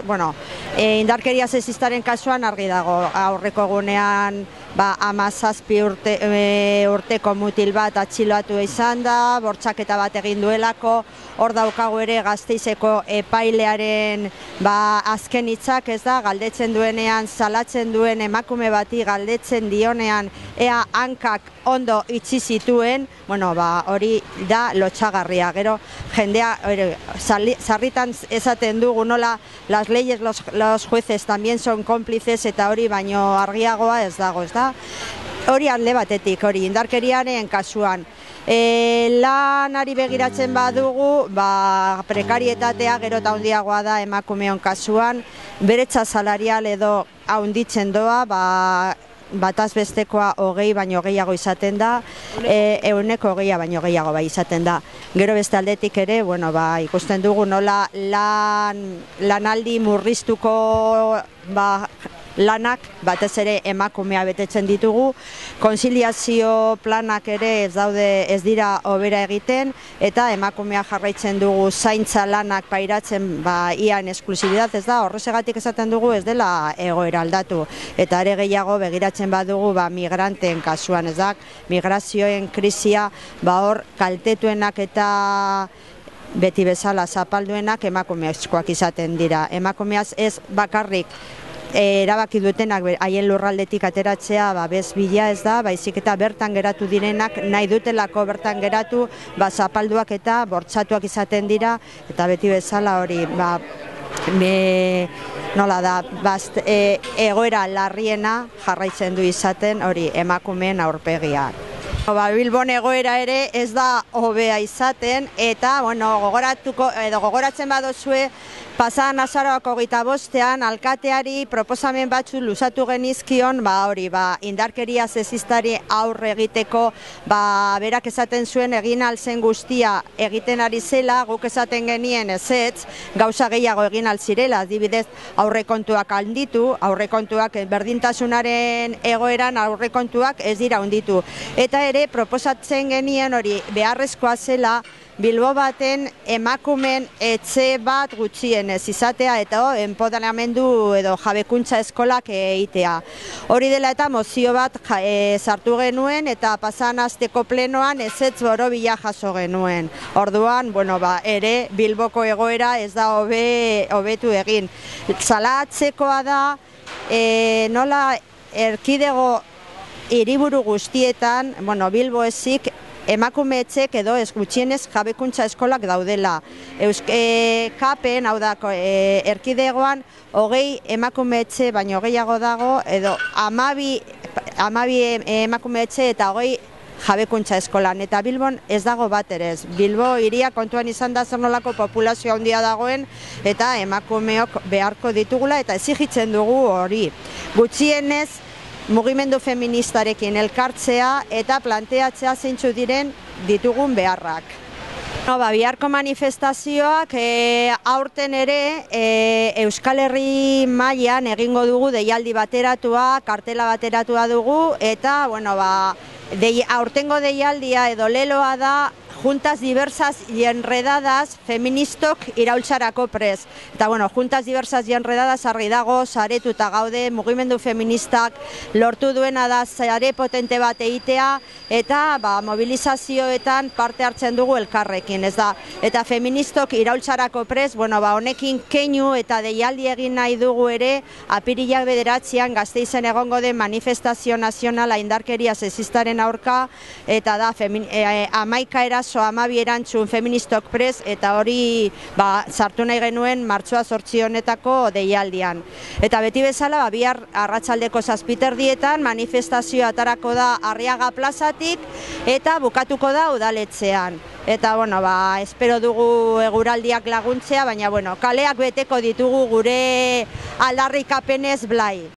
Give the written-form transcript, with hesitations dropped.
Bueno, indarkeria sexistaren kasuan argi dago, aurreko egunean 17 urteko mutil bat atxilotu izan da, bortxaketa bat egin duelako, hor daukagu ere Gasteizeko epailearen azken hitzak, ez da, galdetzen duenean, salatzen duen emakume bati galdetzen dionean ea hankak ondo itxi zituen, bueno, hori da lotxagarria. Gero jendea sarritan esaten dugu nola las leyes, los jueces también son cómplices, eta hori baino argiagoa ez dago, ez da? Hori alde batetik, hori indarkeriaren kasuan. Lanari begiratzen badugu, prekarietatea gero eta handiagoa da emakumeon kasuan, beretza salarial edo handitzen doa, bataz bestekoa 20 baino gehiago izaten da, 120 baino gehiago izaten da. Gero beste aldetik ere, ikusten dugu nola lanaldi murriztuko lanak, batez ere emakumea betetzen ditugu, konziliazio planak ere ez dira hobera egiten, eta emakumea jarraitzen dugu zaintza lanak pairatzen ian esklusibidad, ez da, horrezegatik esaten dugu ez dela egoera aldatu, eta are gehiago begiratzen badugu migranten kasuan, ez da, migrazioen krisia, hor kaltetuenak eta beti bezala zapalduenak emakumeazkoak izaten dira. Emakumeaz ez bakarrik erabaki dutenak haien lurraldetik ateratzea bez bila ez da, baizik eta bertan geratu direnak nahi dutelako bertan geratu, zapalduak eta bortxatuak izaten dira, eta beti bezala hori nola da, egoera larriena jarraitzen du izaten hori emakumeen aurpegia. Bilbon egoera ere ez da hobea izaten, eta gogoratzen badozue pasadan azaroako 25ean alkateari proposamen batzu luzatu genizkion, indarkeria sexistari aurre egiteko, berak esaten zuen egin alzen guztia egiten ari zela, guk esaten genien ezetz, gauza gehiago egin alzirela, adibidez aurrekontuak handitu, aurrekontuak berdintasunaren egoeran aurrekontuak ez dira handitu. Eta ere proposatzen genien hori beharrezkoa zela Bilbo baten emakumen etxe bat gutxienez izatea eta enpoderamendu edo jabekuntza eskolak egitea. Hori dela eta mozio bat sartu genuen eta pasan asteko plenoan ezetz borobila jaso genuen. Orduan, ere Bilboko egoera ez da hobetu egin. Salatzekoa da nola erkidego hiriburu guztietan, Bilbo ezik, emakume etxek edo gutxienez jabekuntza eskolak daudela. Kapen, hau da, erkidegoan 20 emakume etxe baino gehiago dago, edo 12 emakume etxe eta 20 jabekuntza eskolan. Eta Bilbon ez dago bat ere ez. Bilbo hiria kontuan izan da zer nolako populazio handia dagoen, eta emakumeok beharko ditugula, eta exigitzen dugu hori. Gutxienez, mugimendu feministarekin elkartzea eta planteatzea zeintzu diren ditugun beharrak. Biharko manifestazioak aurten ere Euskal Herri mailan egingo dugu deialdi bateratua, kartela bateratua dugu, eta aurtengo deialdia edo leloa da juntas diversas y enredadas feministok iraultzarako prest. Eta juntas diversas y enredadas argi dago, saretuta gaude, mugimendu feministak lortu duena da sare potente bat egitea, eta mobilizazioetan parte hartzen dugu elkarrekin, ez da. Eta feministok iraultzarako prest, honekin keinu eta deialdi egin nahi dugu ere, apirilak 9 Gasteizen egongo den manifestazio nazionala indarkeria sexistaren aurka, eta da 11 eraso 12 erantzun feministok prest, eta hori sartu nahi genuen martxoa 8 honetako deialdian. Eta beti bezala, bihar arratsaldeko 7:00 manifestazioa atarako da Arriaga plazatik, eta bukatuko da udaletxean. Eta, espero dugu eguraldiak laguntzea, baina, kaleak beteko ditugu gure aldarrikapenez blai.